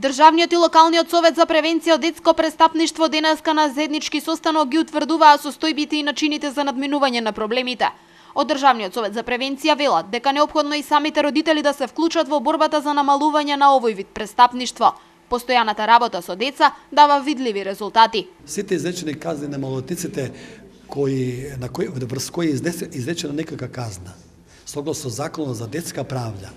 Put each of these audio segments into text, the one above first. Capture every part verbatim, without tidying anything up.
Државниот и локалниот совет за превенција од детско престапништво денеска на заеднички состанок ги утврдуваа состојбите и начините за надминување на проблемите. Од Државниот совет за превенција велат дека неопходно и самите родители да се вклучат во борбата за намалување на овој вид престапништво. Постојаната работа со деца дава видливи резултати. Сите изречени казни на малолетниците кои на кои врз кои е изречена некака казна, согласно Законот за детска правда,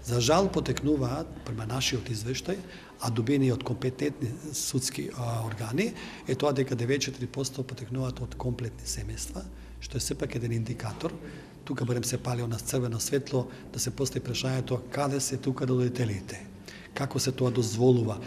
за жал потекнуваат према нашиот извештај, а добени од компетентни судски а, органи, е тоа дека деветдесет и четири проценти потекнуваат од комплетни семејства, што е сепак еден индикатор. Тука барем се палио на црвено светло да се постави прашањето каде се тука родителите, како се тоа дозволува.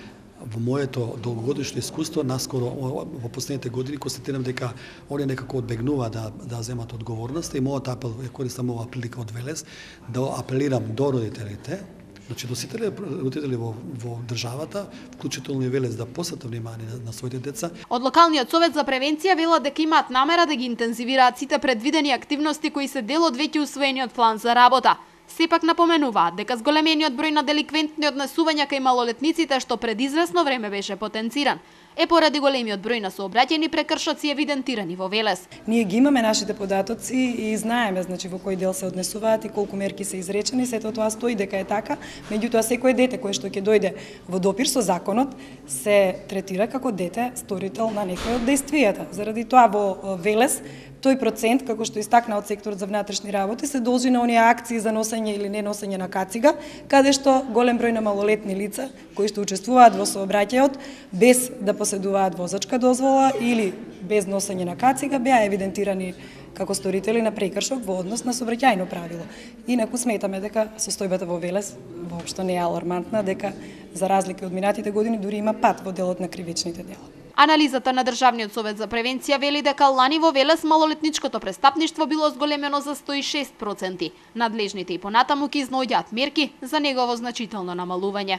Во моето долгогодишно искуство, наскоро во последните години, констатирам дека они некако одбегнува да, да земат одговорност и мојот апел, користам оваа прилика од Велес, да апелирам до родителите, значи до сите родители во, во државата, вклучително и Велес, да посветат внимание на, на своите деца. Од локалниот совет за превенција велат дека имаат намера да ги интензивираат сите предвидени активности кои се дел од веќе усвоениот план за работа. Сепак напоменуваат дека зголемениот број на деликвентни однесувања кај малолетниците, што пред известно време беше потенциран, е поради големиот број на сообраќајни прекршоци евидентирани во Велес. Ние ги имаме нашите податоци и знаеме значи во кој дел се однесуваат и колку мерки се изречени, сето тоа стои дека е така, меѓутоа секое дете кое што ќе дојде во допир со законот се третира како дете сторител на некој од дејствијата. Заради тоа во Велес тој процент, како што истакна од секторот за внатрешни работи, се должи на оние акции за носење или не носење на кацига, каде што голем број на малолетни лица кои што учествуваат во сообраќајот без да поседуваат возачка дозвола или без носење на кацига беа евидентирани како сторители на прекршок во однос на сообраќајно правило. Инаку сметаме дека состојбата во Велес воопшто не е алармантна, дека за разлика од минатите години дури има пат во делот на кривичните дела. Анализата на Државниот совет за превенција вели дека лани во Велес малолетничкото престапништво било зголемено за сто и шест проценти. Надлежните и понатаму ќе изнаоѓаат мерки за негово значително намалување.